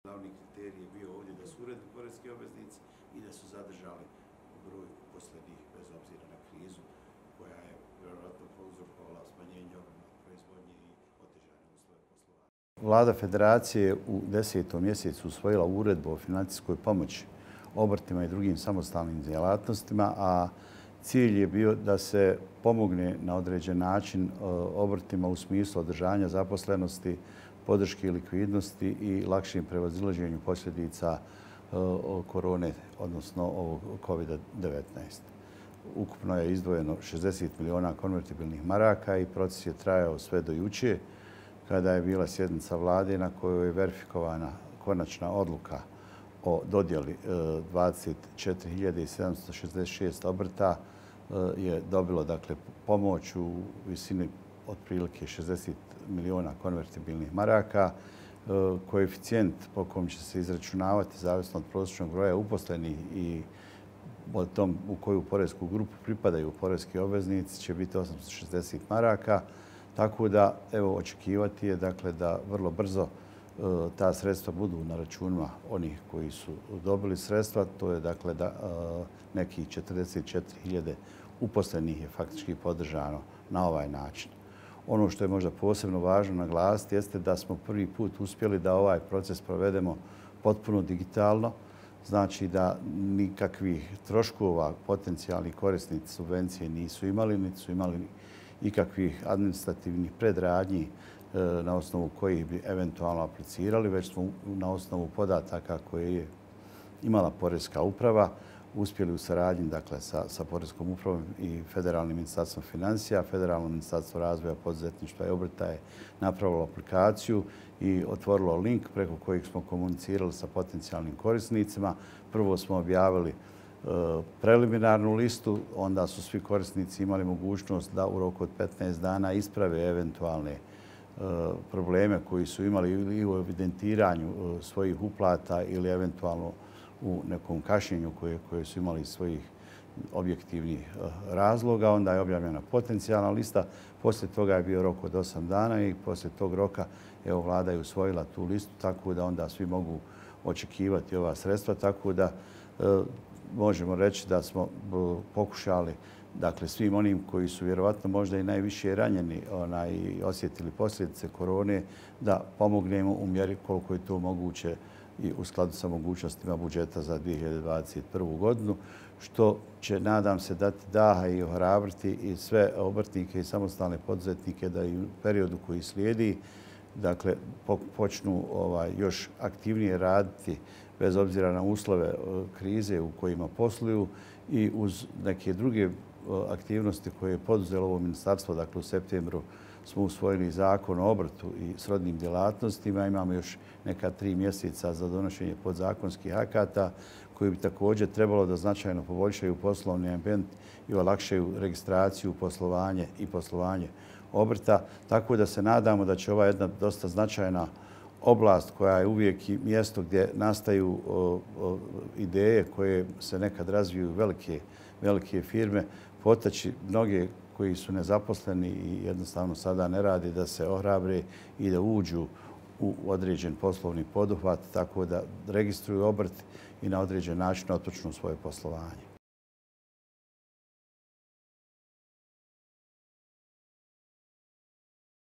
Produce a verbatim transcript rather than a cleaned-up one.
Glavni kriterij je bio ovdje da su uredni poreski obveznici i da su zadržali broj uposlenih bez obzira na krizu koja je vjerojatno prouzrokovala smanjenje obima proizvodnje i otežane uslove poslovanja. Vlada Federacije je u desetom mjesecu usvojila uredbu o financijskoj pomoći obrtima i drugim samostalnim djelatnostima, a cilj je bio da se pomogne na određen način obrtima u smislu održanja zaposlenosti, podrške i likvidnosti i lakšim prevazilaženju posljedica korone, odnosno ovog kovida devetnaest. Ukupno je izdvojeno šezdeset miliona konvertibilnih maraka i proces je trajao sve do jučer, kada je bila sjednica vlade na kojoj je verifikovana konačna odluka o dodjeli dvadeset četiri hiljade sedamsto šezdeset šest obrta je dobilo dakle pomoć u visini otprilike šezdeset miliona konvertibilnih maraka. Koeficijent po kom će se izračunavati zavisno od prosječnog broja uposlenih i o tom u koju poresku grupu pripadaju poreski obveznici će biti osamsto šezdeset maraka. Tako da evo očekivati je dakle da vrlo brzo ta sredstva budu na računima onih koji su dobili sredstva. To je dakle da nekih četrdeset četiri hiljade uposlenih je faktički podržano na ovaj način. Ono što je možda posebno važno naglasiti jeste da smo prvi put uspjeli da ovaj proces provedemo potpuno digitalno. Znači da nikakvih troškova potencijalni korisnici subvencije nisu imali, niti su imali ikakvih administrativnih predradnji na osnovu kojih bi eventualno aplicirali, već smo na osnovu podataka koje je imala Poreska uprava uspjeli u saradnji dakle, sa, sa Poreskom upravom i Federalnim ministarstvom financija. Federalno ministarstvo razvoja, poduzetništva i obrta je napravilo aplikaciju i otvorilo link preko kojeg smo komunicirali sa potencijalnim korisnicima. Prvo smo objavili e, preliminarnu listu, onda su svi korisnici imali mogućnost da u roku od petnaest dana isprave eventualne probleme koji su imali ili u evidentiranju svojih uplata ili eventualno u nekom kašnjenju koje, koje su imali svojih objektivnih razloga. Onda je objavljena potencijalna lista. Poslije toga je bio rok od osam dana i poslije tog roka evo, vlada je usvojila tu listu, tako da onda svi mogu očekivati ova sredstva. Tako da e, možemo reći da smo pokušali dakle, svim onim koji su vjerovatno možda i najviše ranjeni onaj, i osjetili posljedice korone, da pomognemo u mjeri koliko je to moguće i u skladu sa mogućnostima budžeta za dvije hiljade dvadeset prvu. godinu, što će, nadam se, dati daha i ohrabriti i sve obrtnike i samostalne poduzetnike da i u periodu koji slijedi dakle, počnu ovaj, još aktivnije raditi bez obzira na uslove krize u kojima posluju i uz neke druge aktivnosti koje je poduzelo ovo ministarstvo. Dakle, u septembru smo usvojili zakon o obrtu i srodnim djelatnostima. Imamo još neka tri mjeseca za donošenje podzakonskih akata koji bi također trebalo da značajno poboljšaju poslovni ambijent i olakšaju registraciju, poslovanje i poslovanje obrta. Tako da se nadamo da će ova jedna dosta značajna oblast koja je uvijek i mjesto gdje nastaju o, o, ideje koje se nekad razviju velike, velike firme, potaći mnoge koji su nezaposleni i jednostavno sada ne radi da se ohrabre i da uđu u određen poslovni poduhvat, tako da registruju obrt i na određen način otpočnu svoje poslovanje.